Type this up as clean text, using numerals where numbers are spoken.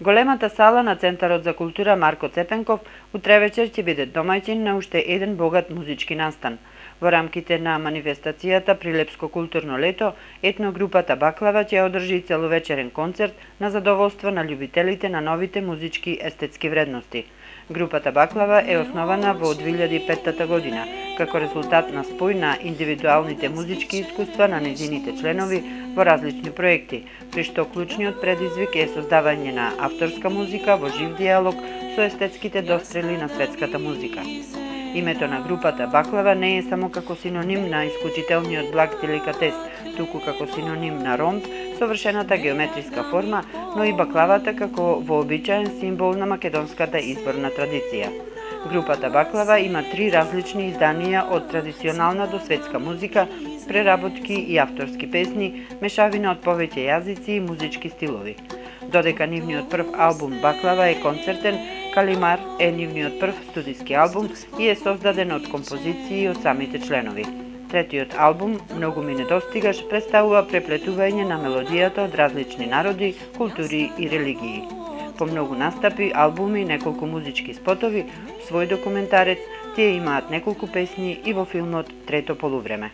Големата сала на Центарот за култура Марко Цепенков утре вечер ќе биде домаќин на уште еден богат музички настан. Во рамките на манифестацијата Прилепско културно лето, етногрупата Баклава ќе одржи целовечерен концерт на задоволство на љубителите на новите музички естетски вредности. Групата Баклава е основана во 2005 година, како резултат на спој на индивидуалните музички искуства на незините членови во различни проекти, при што клучниот предизвик е создавање на авторска музика во жив диалог со естетските дострели на светската музика. Името на групата Баклава не е само како синоним на исклучителниот благ деликатес, туку како синоним на ромб, совршената геометриска форма, но и баклавата како вообичаен символ на македонската изборна традиција. Групата Баклава има 3 различни изданија од традиционална до светска музика, преработки и авторски песни, мешавина од повеќе јазици и музички стилови. Додека нивниот прв албум Баклава е концертен, Калимар е нивниот прв студиски албум и е создаден од композиции од самите членови. Третиот албум, Многу ми недостигаш, представува преплетување на мелодијата од различни народи, култури и религии. По многу настапи, албуми, неколку музички спотови, свој документарец, тие имаат неколку песни и во филмот Трето полувреме.